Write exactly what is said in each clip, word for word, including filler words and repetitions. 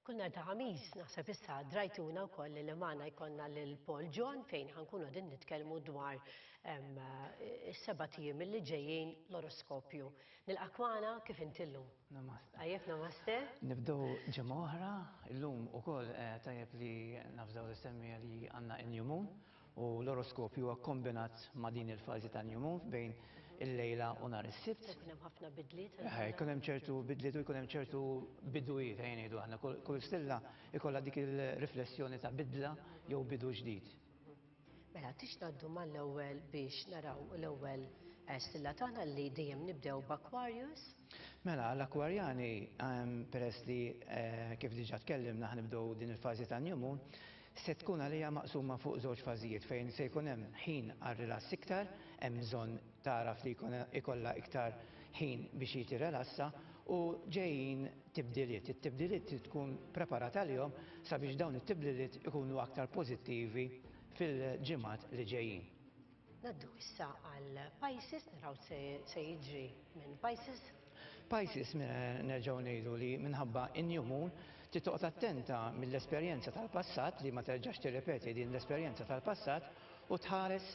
Kull nhar ta' Ħamis, naħseb issa drajtuna wkoll li magħna jkollna lil Paul John, fejn ħa nkunu qegħdin nitkellmu dwar is-sebat ijiem li ġejjin, l-oroskopju. Nilqgħek magħna. Kif inti llum? Namaste. Tajjeb, namaste. Nibdew ġimgħa oħra, illum ukoll eh, tajjeb li nafżaw l-semmija li għandna new moon u l-oroskopju huwa kombinat ma' din il-fażi ta' new moon bejn il-lejla u nhar is-Sibt. Jkun hemm ħafna bidliet. Eh, jkun hemm ċertu bidliet u jkun hemm ċertu bidujiet, ejja ngħidu aħna. Kull kull stilla ikollha dik il-riflessjoni ta' bidla jew bidu ġdid. Mela, tix ngħaddu mal-ewwel biex naraw l-ewwel eh, stilla tagħna, li dejjem nibdew b'Aquarius. Mela, l-Akwarjani, ehm, peress li eh, kif diġà tkellimna ħa nibdew din il-fażi ta' new moon, se tkun għalija maqsuma fuq żewġ fażijiet, fejn se jkun hemm ħin għal relass iktar, hemm bżonn taraf li jkun ikollha iktar ħin biex jitirrelassa, u ġejjin tibdiliet. It-tibdiliet trid tkun preparata għalihom sabiex dawn it-tibdiliet ikunu aktar pożittivi fil-ġimgħat li ġejjin. Ngħaddu issa għal Pisces, naraw se se jiġri minn Pisces. Pisces, nerġgħu ngħidu li minħabba in-new moon trid toqgħod attenta mill-esperjenza tal-passat, li ma terġax tirrepeti din l-esperjenza tal-passat, u tħares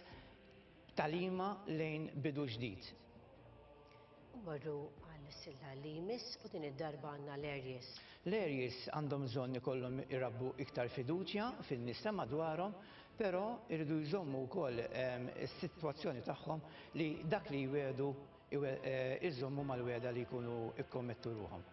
tagħlima lejn bidu ġdid. U morru għal stilla li jmiss, u din id-darba għandna l-Aries. L-Aries għandhom bżonn ikollhom irabbu iktar fiduċja fin-nies ta' madwarhom, però jridu jżommu wkoll ehm, is-sitwazzjoni tagħhom li dak li jwedu iżommu mal-wegħda li jkunu ikkommettu ruħhom.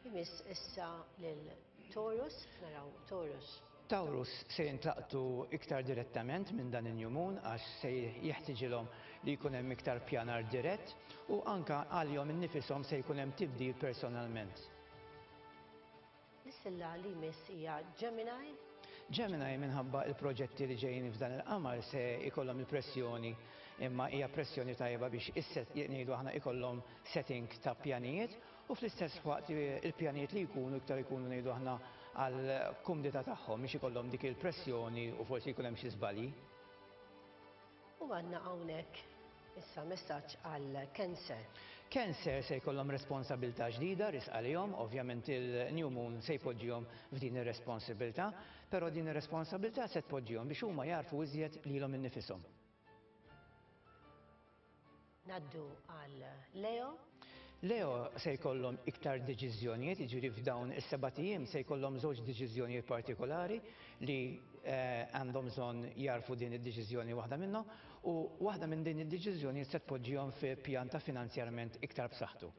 Jmiss issa lil Taurus, naraw Taurus. Taurus se jintlaqtu iktar direttament minn dan il-new moon, għax se jeħtiġilhom li jkun hemm iktar pjanar dirett u anka għalihom innifisom se jkun hemm tibdil personalment. L-istilla li jmiss hija Gemini. Gemini, minħabba il-proġetti li ġejjin f'dan il-qamar, se ikollhom il-pressjoni, imma hija pressjoni tajba biex isset ngħidu aħna ikollhom setting ta' pjanijiet, u fl-istess waqt il-pjanijiet li jkunu iktar ikunu, ngħidu aħna, għal kumdità tagħhom, biex ikollhom dik il-pressjoni u forsi jkun hemm xi żbalji. U għandna hawnhekk issa messaġġ għal Cancer. Cancer se jkollhom responsabilità ġdida riesqa għalihom, ovvjament il-new moon se jpoġġihom f'din ir-responsabilità, però din ir-responsabilità se tpoġġihom biex huma jarfu iżjed lilhom innifishom. Ngħaddu għal Leo. Leo se jkollhom iktar deċiżjonijiet, jiġifieri f'dawn is-sebat ijiem se jkollhom żewġ deċiżjonijiet partikolari li eh, għandhom bżonn jarfu din id-deċiżjoni, waħda minnhom, u waħda minn din id-deċiżjonijiet se tpoġġihom fi pjan ta' finanzjarment iktar b'saħħtu.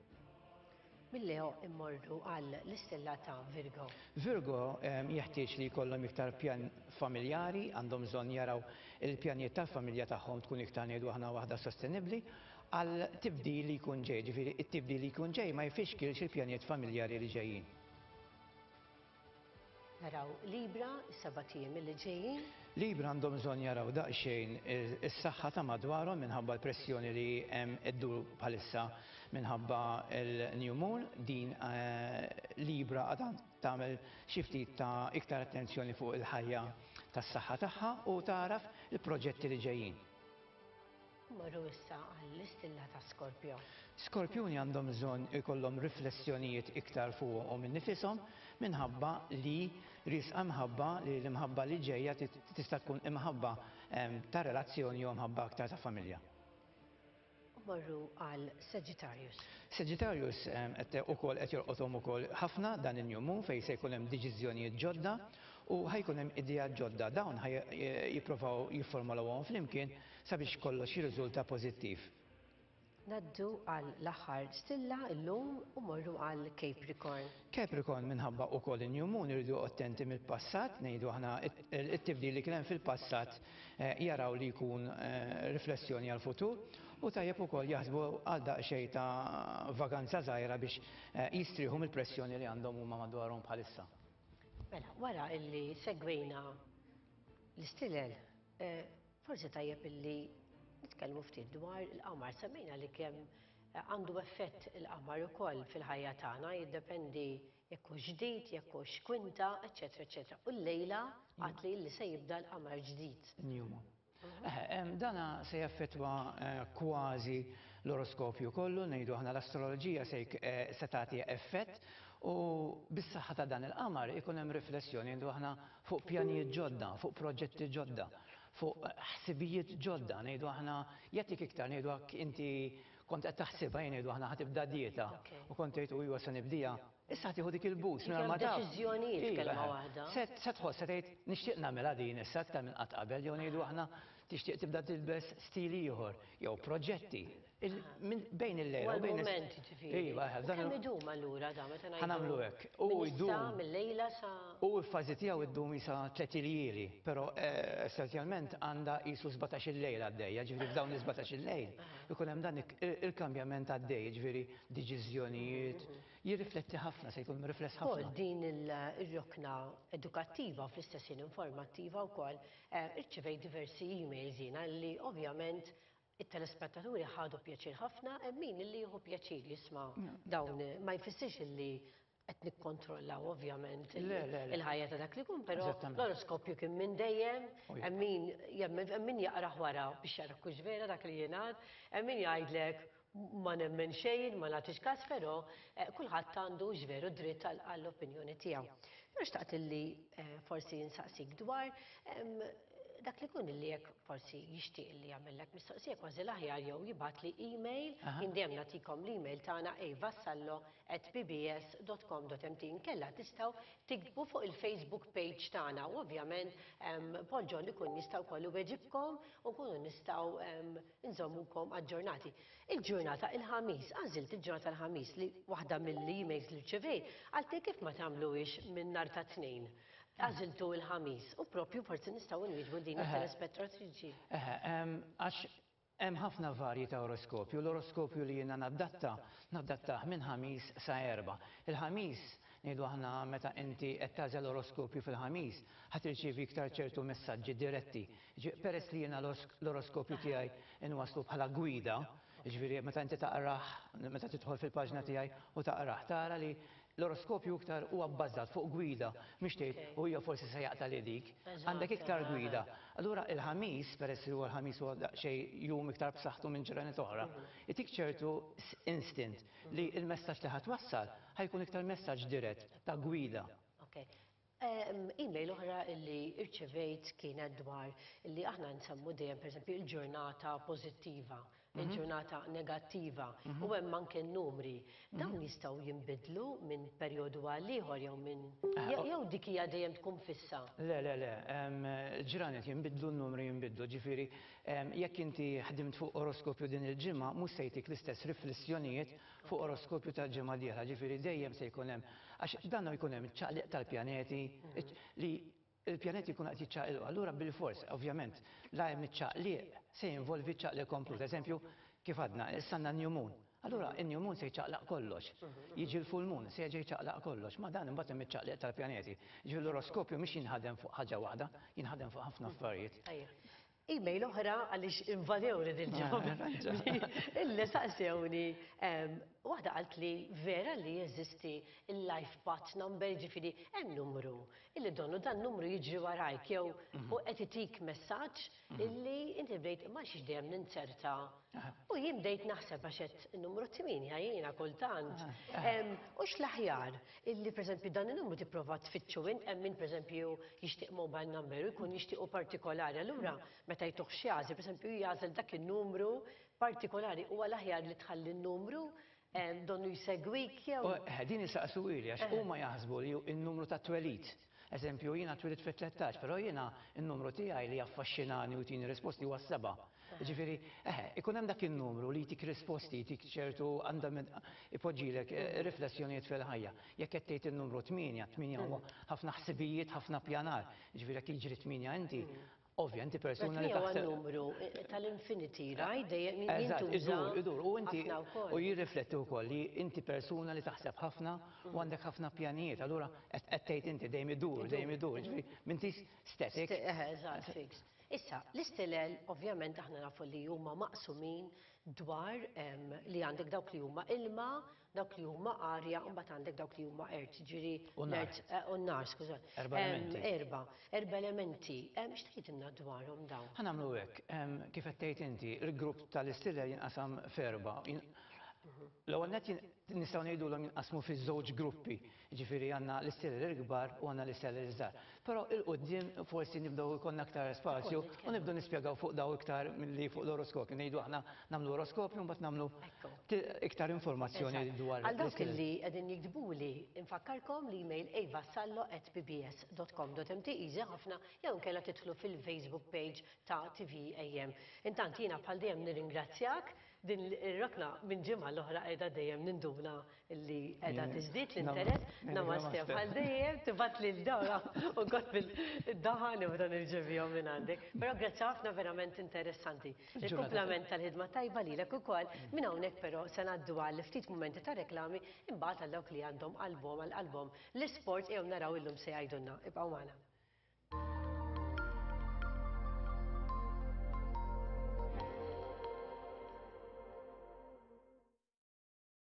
Minn Leo immorru għal l-istilla ta' Virgo. Virgo em, jeħtieġ li jkollhom iktar pjan familjari, għandhom bżonn jaraw il-pjanijiet tal-familja tagħhom tkun iktar, ngħidu aħna, waħda sostenibbli għal tibdil li jkun ġej, ġifieri it-tibdil li jkun ġej ma jfixkilx il-pjanijiet familjari li ġejjin. Naraw Libra, is-sebat ijiem li ġejjin. Libra għandhom bżonn jaraw daqsxejn is-saħħa ta' madwarhom minħabba l-pressjoni li hemm iddur bħalissa minħabba l-new moon. Din eh, Libra għadha tagħmel xi ftit ta' iktar attenzjoni fuq il-ħajja tas-saħħa tagħha u taraf il-proġetti li ġejjin. Morru issa għall-istilla ta' Scorpio. Skorpjuni għandhom bżonn ikollhom riflessjonijiet iktar fuqhom innifisom minħabba li riesqa mħabba, li l-imħabba li ġejja tista' tkun imħabba em, ta' relazzjoni jew mħabba aktar ta' familja. U morru għal Sagittarius. Sagittarius em, qed ukoll qed jolqothom ukoll ħafna dan il-new moon, fejn se jkun hemm deċiżjonijiet ġodda u ħa jkun hemm ideat ġodda. Dawn ħa jippruvaw jifformulawhom flimkien sabiex kollox jirriżulta pożittiv. Ngħaddu għal l-aħħar stilla illum u morru għal Capricorn. Capricorn, minħabba ukoll il-new moon, iridu attenti mill-passat, ngħidu aħna it-tibdil li kien hemm fil-passat eh, jaraw li jkun eh, riflessjoni għal-futur, u tajjeb ukoll jaħsbu għal daqsxejn ta' vaganza żgħira biex eh, jistrieħu mill-pressjoni li għandhom huma madwarhom bħalissa. Mela, wara illi segwejna l-istilel, eh, forsi tajjeb illi nitkellmu ftit dwar il-qamar. Semmejna li kemm eh, għandu effett il-qamar ukoll fil-ħajja tagħna, jiddependi jekk hux ġdid, jekk hux kwinta, eċetera, eċetera. U llejla għad li li se jibda l-qamar ġdid. New moon. Eh, em, Dana se jaffettwa eh, kważi l-oroskopju kollu, ngħidu aħna l-astroloġija se jk- eh, se tagħti effett. U bis-saħħa ta' dan il-qamar ikun hemm riflessjoni ngħidu aħna fuq pjanijiet ġodda, fuq proġetti ġodda, fuq ħsibijiet ġodda, ngħidu aħna jagħtik iktar, ngħidu inti kont qed taħsibha, ngħidu aħna ħa tibda dieta u kont tgħid u iwa se nibdija. Issa tieħu dik il-boost minn ma taf. Deċiżjonijiet kelma waħda. Se tħoss se tgħid nixtieq nagħmilha din issa aktar minn qatt qabel, jew ngħidu aħna tixtieq tibda tilbes stil ieħor jew proġetti. Bejn il-lejla u bejn il-moment ġifieri. Iva, kemm idum allura da meta ngħidu? Ħa nagħmlu hekk. U jdum mill-lejla sa U l-fażi tiegħu ddum isa tliet iljieli, però essenzjalment għandha qisu sbatax-il lejla għaddejja, ġifieri f'dawn is-sbatax-il lejl ikun hemm dan il-kambjament għaddej, ġifieri deċiżjonijiet, jirrifletti ħafna, se jkun rifless ħafna. Din il-rokna edukattiva fl-istess ħin informattiva wkoll irċivejt diversi emails jiena li ovvjament it-telespettaturi ħadu pjaċir ħafna, hemm min illi jieħu pjaċir jisma' dawn, ma jfissirx illi qed nikkontrollaw ovvjament il-ħajja ta' dak li jkun, però l-oroskopju kien minn dejjem, hemm min hemm min jaqrah wara biex jara kux vera dak li jingħad, hemm min jgħidlek ma nemmen xejn, ma nagħtix każ, però kulħadd għandu veru dritt għall-opinjoni tiegħu. Però xtaqt illi forsi nsaqsik dwar dak li kun illi jekk forsi jixtieq li jagħmellek mistoqsija kważi l-aħjar jew jibgħat li email, jien dejjem nagħtikom l-email tagħna avassallo at p b s dot com dot m t, inkella tistgħu tiktbu fuq il-Facebook page tagħna u ovvjament Paul John ikun jista' wkoll iweġibkom u nkunu nistgħu nżommukom aġġornati. Il-ġurnata il-ħamis, għażilt il-ġurnata l-ħamis li waħda mill-emails li rċevejt għalti kif ma tagħmluhiex minn nhar ta' tnejn. Għażiltu il-ħamis u propju forsi nistgħu nwieġbu din it-telespettatriċi. Għax hemm ħafna varji ta' oroskopju. L-oroskopju li jiena nadatta, nadattah minn ħamis sa erba'. Il-ħamis ngħidu aħna meta inti qed tagħżel oroskopju fil-ħamis, ħa tirċievi iktar ċertu messaġġi diretti. Peress li jiena l-oroskopju tiegħi inwaslu bħala gwida, ġifieri meta inti taqrah, meta tidħol fil-paġna tiegħi u taqrah, tara li l-oroskopju iktar huwa bbażat fuq gwida, mhix tgħid u hija forsi se jaqta' li dik. Għandek iktar gwida. Allura il-ħamis, peress li huwa l-ħamis huwa daqsxejn jum iktar b'saħħtu minn ġranet oħra, itik ċertu instant li l-messaġġ li ħadd wassal ħajkun iktar messaġġ dirett ta' gwida. Email oħra li rċevejt kienet dwar li aħna nsemmu dejjem pereżempju il-ġurnata pożittiva, il-ġurnata negattiva, u hemm anke n-numri. Dawn jistgħu jinbidlu minn perjodu għal ieħor jew minn jew dik hija dejjem tkun fissa. Le, le, le, ġranet jinbidlu, n-numri jinbidlu, ġifieri jekk inti ħdimt fuq oroskopju din il-ġimgħa mhux se jtik l-istess riflessjonijiet fuq oroskopju tal-ġimgħa dieħla, ġifieri dejjem se jkun hemm, għax dan jkun hemm iċ-ċaqliq tal-pjaneti li il-pjaneti jkunu qed jiċċaqilqu. Allura bil-fors, ovvjament, la hemm iċ-ċaqliq se jinvolvi ċaqliq komplut. Eżempju, kif għadna, issa għandna new moon. Allura in-new moon se jċaqlaq kollox. Jiġi l-full moon se jerġa' jċaqlaq kollox. Ma dan imbagħad hemm iċ-ċaqliq tal-pjaneti. Ġifieri l-oroskopju mhix jinħadem fuq ħaġa waħda, jinħadem fuq ħafna affarijiet. Email oħra għaliex invadewni dil-ġimgħa. Illi saqsewni, waħda qalt li vera li jeżisti il-life path number, ġifieri hemm numru illi donnu dan numru jiġri warajk jew u qed itik messaġġ illi inti bdejt ma xiex dejjem ninzerta. U jien bdejt naħseb għax qed numru tmienja jiena kultant. U x'l-aħjar illi pereżempju dan in-numru tipprova tfittxu int, hemm min pereżempju jixtieq mobile number u jkun jixtiequ partikolari. Allura meta jtuh xi għażel, pereżempju jagħżel dak in-numru partikolari, huwa l-aħjar li tħalli n-numru donnu jsegwik jew. Din isaqsu ili għax huma jaħsbu li n-numru ta' twelid. Eżempju, jiena twelid fit-tlettax, però jiena n-numru tiegħi li jaffaxxinani u jtini risposti huwa s-seba'. Ġifieri, eħe, ikun hemm dak in-numru li jtik risposti, jtik ċertu andament, ipoġġilek riflessjonijiet fil-ħajja. Jekk qed tgħid in-numru tmienja, tmienja huwa ħafna ħsibijiet, ħafna pjanar. Ġifieri jekk jiġri tmienja inti, ovvja, inti persuna li taħseb. Numru tal-infinity, right? Dejjem jintuża. Idur, idur, u inti u jirrifletti wkoll li inti persuna li taħseb ħafna u għandek ħafna pjanijiet. Allura qed tgħid inti dejjem idur, dejjem idur, ġifieri m'intix static. Eżatt, fixed. Issa, l-istilel ovvjament aħna nafu li huma maqsumin dwar li għandek dawk li huma ilma, dawk li huma arja, u mbagħad għandek dawk li huma ert, ġifieri u n-nar, skuża. Erba' elementi. Erba, erba' elementi. X'tgħidilna dwarhom dawn? Ħa nagħmlu hekk, kif qed tgħid inti, il-grupp tal-istilel jinqasam f'erba'. L-ewwel nett nistgħu ngħidulhom jinqasmu fi żewġ gruppi, ġifieri għandna l-istilel il-kbar u għandna l-istilel iż-żgħar. Però 'il quddiem forsi nibdew ikollna aktar spazju u nibdew nispjegaw fuq daw iktar milli fuq l-oroskopju. Ngħidu aħna nagħmlu oroskopju, mbagħad nagħmlu iktar informazzjoni dwar. Għal dawk li qegħdin jiktbuli, infakkarkom l-email evasallo at P B S dot com dot M T, easy ħafna, jew inkella tidħlu fil-Facebook page ta' T V A M. Intant jiena bħal dejjem nirringrazzjak. Din ir-rokna minn ġimgħa l-oħra qiegħda dejjem ninduna li qiegħda tiżdied l-interess. Namaste, bħal dejjem tibgħat lil dawra u kont bil-daħan u dan irċevihom minn għandek. Però grazzi ħafna, verament interessanti. Il-kumplament tal-ħidma tajba lilek ukoll. Minn hawnhekk però se ngħaddu għal ftit mumenti ta' reklami, imbagħad għal dawk li għandhom qalbhom għal qalbhom l-isport jew naraw illum se jgħidulna. Ibqgħu magħna.